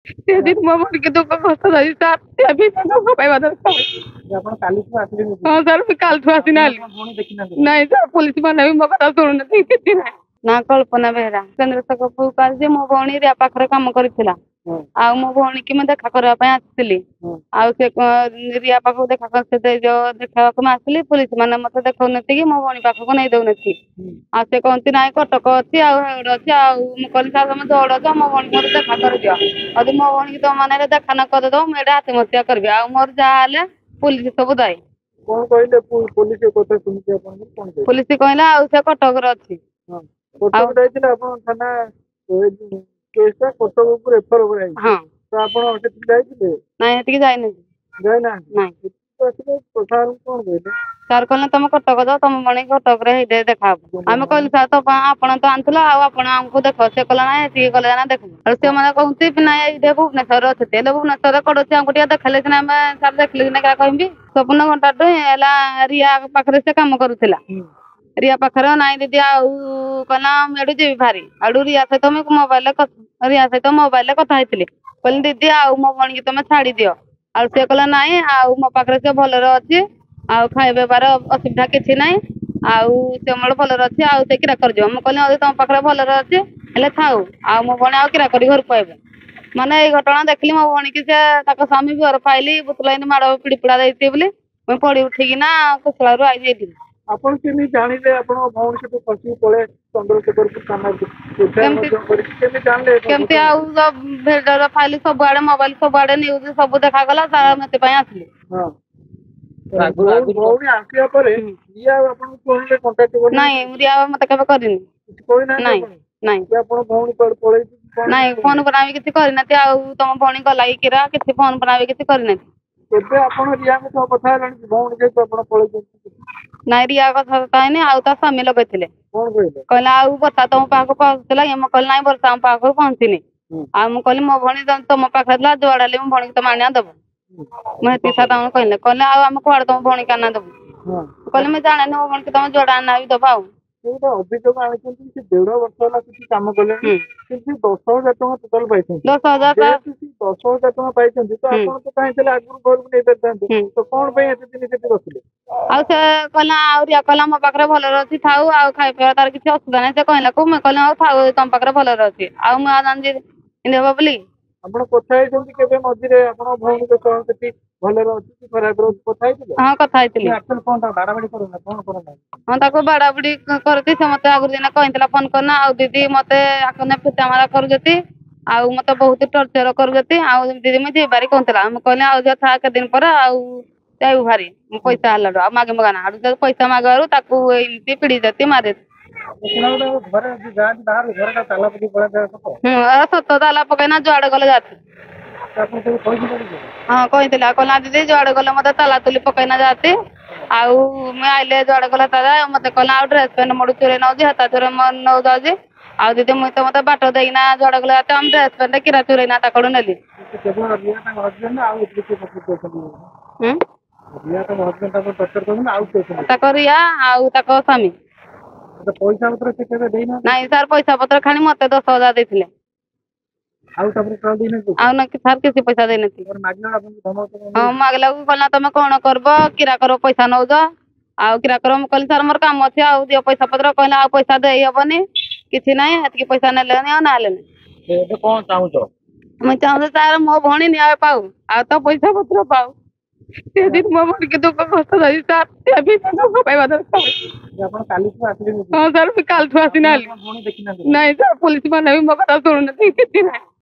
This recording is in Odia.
ସେଦିନ ମୋ ଭଉଣୀକି ଦୁଃଖ କଷ୍ଟ ଦେଇଛି ସାର୍, ସେ ବି ଦୁଃଖ ପାଇବା ଦରକାର। ଆପଣ କାଲିଠୁ ଆସିଲେଣି? ହଁ ସାର୍, ମୁଁ କାଲିଠୁ ଆସିନାହାନ୍ତି। ଭଉଣୀ ଦେଖିନାହାନ୍ତି? ନାଇଁ ସାର୍, ପୋଲିସ ମାନେ ବି ମୋ କଥା ଶୁଣୁନାହାନ୍ତି, କିଛି ନାହିଁ। ନା କଳ୍ପନା ବେହେରା। ଚନ୍ଦ୍ରଶେଖରପୁରକୁ ଆସିଛି। ମୋ ଭଉଣୀ ରିୟା ପାଖରେ କାମ କରିଥିଲା ଆଉ ମୋ ଭଉଣୀକି ମୁଁ ଦେଖା କରିବା ପାଇଁ ଆସିଥିଲି। ଆଉ ସେ ରିୟା ପାଖକୁ ଦେଖା ସେ ଯୋଉ ଦେଖାବାକୁ ମୁଁ ଆସିଲି, ପୋଲିସ ମାନେ ମତେ ଦେଖଉନାହାନ୍ତି କି ମୋ ଭଉଣୀ ପାଖକୁ ନେଇ ଦଉନାହାନ୍ତି। ଆଉ ସେ କହନ୍ତି ନାଇଁ କଟକ ଅଛି ଆଉ ହେଉଡ ଅଛି। ଆଉ ମୁଁ କହିଲି, ସାର୍ ତମେ ଦୌଡ ଅଛ, ମୋ ଭଉଣୀ ମୋତେ ଦେଖା କରିଦିଅ। ଯଦି ମୋ ଭଉଣୀକି ତମ ମାନେ ଦେଖା ନ କରିଦବ, ମୁଁ ଏଇଟା ଆତ୍ମହତ୍ୟା କରିବି। ଆଉ ମୋର ଯାହା ହେଲେ ପୋଲିସ ସବୁ ଦାୟୀ। କଣ କହିଲେ ପୋଲିସ କଥା ଶୁଣିକି ଆପଣଙ୍କୁ କଣ କହିଲେ? ପୋଲିସ କହିଲା ଆଉ ସେ କଟକରେ ଅଛି। କଟକ ଯାଇଥିଲେ ଆପଣ? ଥାନା କେସ୍ ଟା କଟକକୁ ରେଫର କରାଯାଇଛି। ହଁ, ତ ଆପଣ ସେଠିକି ଯାଇଥିଲେ? ନାଇଁ, ସେଠିକି ଯାଇନାହାନ୍ତି। ଯାଇନାହାନ୍ତି? ନାଇଁ। ଆସିଲେ ସାର୍ କଣ କହିଲେ? ସାର୍ କହିଲେ ତମେ କଟକ ଯାଅ, ତମ ଭଉଣୀ କଟକରେ ହେଇଠି ଦେଖାହବ। ଆମେ କହିଲୁ, ସାର୍ ତ ଆପଣ ତ ଆଣିଥିଲ ଆଉ ଆପଣ ଆମକୁ ଦେଖ। ସେ କହିଲା ନାଇଁ, ଏଠିକି ଗଲେ ନା ଦେଖିବୁ। ଆଉ ସେମାନେ କହୁଛନ୍ତି ନାଇଁ ଏଇଠି ଭୁବନେଶ୍ୱରରେ ଅଛନ୍ତି। ହେଲେ ଭୁବନେଶ୍ୱରରେ କୋଉଠି ଅଛି ଆମକୁ ଟିକେ ଦେଖେଇଲେ ସିନା, ଆମେ ସାର୍ ଦେଖିଲେ ସିନା କାହା କହିବି। ସ୍ୱପ୍ନ ଘଣ୍ଟାଠୁ ହେଲା ରିୟା ପାଖରେ ସେ କାମ କରୁଥିଲା, ରିୟା ପାଖରେ। ନାଇଁ ଦିଦି, ଆଉ କହିଲା ମୁଁ ଏଠୁ ଯିବି ଭାରି। ଆଡୁ ରିୟା ସହିତ ମୁଁ ମୋବାଇଲରେ, ରିୟା ସହିତ ମୋବାଇଲରେ କଥା ହେଇଥିଲି। କହିଲି, ଦିଦି ଆଉ ମୋ ଭଉଣୀକି ତମେ ଛାଡି ଦିଅ। ଆଉ ସେ କହିଲା ନାଇଁ, ଆଉ ମୋ ପାଖରେ ସେ ଭଲରେ ଅଛି, ଆଉ ଖାଇବା ପିଇବାର ଅସୁବିଧା କିଛି ନାହିଁ, ଆଉ ସେ ମୋର ଭଲରେ ଅଛି, ଆଉ ସେ କିରା କରିଯିବ। ମୁଁ କହିଲି, ଯଦି ତମ ପାଖରେ ଭଲରେ ଅଛି ହେଲେ ଥାଉ, ଆଉ ମୋ ଭଉଣୀ ଆଉ କିରା କରି ଘରକୁ ପାଇବ। ମାନେ ଏଇ ଘଟଣା ଦେଖିଲି, ମୋ ଭଉଣୀକି ସେ ତାଙ୍କ ସ୍ୱାମୀ ବିଅର ପାଇଲି ବୋତଲ ଏମିତି ମାଡ଼ ପିଡି ପୁଡା ଦେଇଛି ବୋଲି ମୁଁ ପଡି ଉଠିକିନା କୁଶଳାରୁ ଆଇଛି ଏଇଠିକି। ଆପଣ କେମିତି ଜାଣିଲେ ଆପଣଙ୍କ ଭଉଣୀ ସେଠୁ ଖସିକି ପଳେଇ ଚନ୍ଦ୍ରଶେଖରପୁର ଥାନାକୁ କେମିତି ଜାଣିଲେ? କେମିତି ଆଉ ଫାଇଲ ସବୁଆଡେ, ମୋବାଇଲ ସବୁଆଡେ, ନ୍ୟୁଜ ସବୁ ଦେଖାଗଲା, ସେଥିପାଇଁ ଆସିଲି। ଭଉଣୀ ଆସିବା ପରେ ରିୟା ଆପଣଙ୍କୁ ଫୋନରେ କଣ୍ଟାକ୍ଟ? ନାଇଁ, ରିୟା ମତେ କେବେ କରିନି। କିଛି କହିନାହାନ୍ତି? ନାଇଁ ନାଇଁ। ଆପଣ ଭଉଣୀ କୁଆଡେ ପଳେଇଛି? ନାଇଁ, ଫୋନ ଫୋନ ବି କିଛି କରିନାହାନ୍ତି। ଆଉ ତମ ଭଉଣୀ ଗଲା କି କିରା କିଛି ଫୋନ ଫୋନ ବି କିଛି କରିନାହାନ୍ତି। କେବେ ଆପଣ ରିୟାଙ୍କ ସହ କଥା ହେଲେଣି କି, ଭଉଣୀ ଯେହେତୁ ଆପଣ ପଳେଇଛନ୍ତି? ନାଇଁ, ରିୟା କଥା ହେଇନି। ଆଉ ତା ସ୍ୱାମୀ ଲଗେଇଥିଲେ। କଣ କହିଲେ? କହିଲା ଆଉ ବର୍ଷା ତମ ପାଖକୁ ପହଞ୍ଚିଥିଲା? ମୁଁ କହିଲି ନାଇଁ, ବର୍ଷା ଆମ ପାଖକୁ ପହଞ୍ଚିନି। ଆଉ ମୁଁ କହିଲି ମୋ ଭଉଣୀ ତମ ପାଖରେ ଥିଲା, ଯୁଆଡେ ହେଲେ ମୋ ଭଉଣୀକି ତମେ ଆଣିବା ଦବ। ମୁଁ ହେତିକି ସାର୍ ତାଙ୍କୁ କହିଲେ। କହିଲେ ଆଉ ଆମେ କୁଆଡେ ତମ ଭଉଣୀକି ଆଣିନା ଦବୁ? କହିଲେ ମୁଁ ଜାଣେନି, ମୋ ଭଉଣୀକି ତମେ ଯୁଆଡେ ଆଣିନା ବି ଦବ। ଆଉ ସେ ଗୋଟେ ଅଭିଯୋଗ ଆଣିଛନ୍ତି, ସେ 1.5 ବର୍ଷ ହେଲା କିଛି କାମ କଲେଣି, କିନ୍ତୁ 10,000 ଟଙ୍କା ଟୋଟାଲ ପାଇଛନ୍ତି। 10,000? ଯେହେତୁ ସେ 10,000 ଟଙ୍କା ପାଇଛନ୍ତି, ତ ଆପଣ ତ ଚାହିଁଥିଲେ ଆଗରୁ ଘରକୁ ନେଇପାରିଥାନ୍ତେ, ତ କଣ ପାଇଁ ଏତେ ଦିନ ସେଠି ରଖିଲେ? ଆଉ ସେ କହିଲା, ଆଉ ରିୟା କହିଲା ମୋ ପାଖରେ ଭଲରେ ଅଛି, ଥାଉ, ଆଉ ଖାଇବା ପିଇବା ତାର କିଛି ଅସୁବିଧା ନାହିଁ। ସେ କହିଲାକୁ ମୁଁ କହିଲି ଆଉ ଥାଉ, ତମ ପାଖରେ ଭଲରେ ଅଛି। ଆଉ ମୁଁ ଆଉ ଜାଣିଛି ଏମିତି ହବ ବୋଲି? ଆପଣ କଥା ହେଇଛନ୍ତି କେବେ ମଝିରେ ଆପଣଙ୍କ ଭଉଣୀଙ୍କ ସହ, ସେଠି ଭଲରେ ଅଛି କି ଖରାପରେ ଅଛି, କଥା ହେଇଥିଲେ? ହଁ, କଥା ହେଇଥିଲି। କଣ ତାକୁ ବାଡାବାଡି କରୁନା, କଣ କରନା? ହଁ, ତାକୁ ବାଡାବୁଡି କରୁଛି। ସେ ମତେ ଆଗରୁ ଦିନେ କହିଥିଲା ଫୋନ କରନା, ଆଉ ଦିଦି ମତେ ଆକୁ ପିଟା ମାରା କରୁଛନ୍ତି ଆଉ ମତେ ବହୁତ ଟର୍ଚର କରୁଛନ୍ତି, ଆଉ ଦିଦି ମୁଁ ଯିବାରି କହୁଥିଲା। ମୁଁ କହିଲି ଆଉ ଝିଅ ଥା, କେତେ ଦିନ ପରେ ଆଉ ଯାଇବୁ ଭାରି, ମୁଁ ପଇସା ହେଲାଠୁ ଆଉ ମାଗି ମଗାନା। ଆଡୁ ପଇସା ମାଗିବାରୁ ତାକୁ ଏମିତି ପିଡି ଦେତି ମାରି। ସତ, ତାଲା ପକେଇନା ଯୁଆଡେ ଗଲେ ଯାତି। ହଁ, କହିଥିଲା। କହିଲା ଦିଦି ଯୁଆଡେ ଗଲେ ମତେ ତାଲା ତୁଲି ପକେଇନା ଯାତି, ଆଉ ମୁଁ ଆଇଲେ ଯୁଆଡେ ଗଲେ ତାଲା। ମତେ କହିଲା ଆଉ ଡ୍ରେସ ପ୍ୟାଣ୍ଟ ମୋଠୁ ଚୋରେଇ ନଉଛି, ହେତା ଚୋରେଇ ନଉ ଯାଉଛି। ଆଉ ଦିଦି ମୁଇଁ ତ ମତେ ବାଟ ଦେଇକିନା ଯୁଆଡେ ଗଲେ ଯାତି, ଆମ ଡ୍ରେସ ପ୍ୟାଣ୍ଟ କିରା ଚୋରେଇନା ତାକଡୁ ନେଲି। ତାଙ୍କ ରିୟା ଆଉ ତାଙ୍କ ସ୍ୱାମୀ। ପଇସା ପତ୍ର ସେ କେବେ ଦେଇନାହାନ୍ତି? ନାଇଁ ସାର୍, ପଇସା ପତ୍ର ଖାଲି ମତେ 10,000 ଦେଇଥିଲେ। ଆଉ ତାପରେ ଦେଇନାହାନ୍ତି? ଆଉ ନା ସାର୍, କିଛି ପଇସା ଦେଇନାହାନ୍ତି। ହଁ, ମାଗିଲାକୁ କହିଲା ତମେ କଣ କରିବ, କିରା କର ପଇସା ନଉଛ ଆଉ କିରା କର। ମୁଁ କହିଲି ସାର୍ ମୋର କାମ ଅଛି, ଆଉ ଦିଅ ପଇସା ପତ୍ର। କହିଲା ଆଉ ପଇସା ଦେଇ ହବନି, କିଛି ନାହିଁ। ଏତିକି ପଇସା ନେଲେନି ଆଉ ନହେଲେନି। ଏବେ କଣ ଚାହୁଁଛ? ମୁଁ ଚାହୁଁଛି ସାର୍ ମୋ ଭଉଣୀ ନ୍ୟାୟ ପାଉ ଆଉ ତ ପଇସା ପତ୍ର ପାଉ। ସେଦିନ ମୋ ଭଉଣୀକି ଦୁଃଖ କଷ୍ଟ ଦେଇଛି ସାର୍, ସେ ବି ଦୁଃଖ ପାଇବା ଦରକାର। ଆପଣ କାଲିଠୁ ଆସିଲେଣି? ହଁ ସାର୍, ମୁଁ କାଲିଠୁ ଆସିନାହାନ୍ତି। ଭଉଣୀ ଦେଖିନାହାନ୍ତି? ନାଇଁ ସାର୍, ପୋଲିସ ମାନେ ବି ମୋ କଥା ଶୁଣୁନାହାନ୍ତି, କିଛି ନାହିଁ।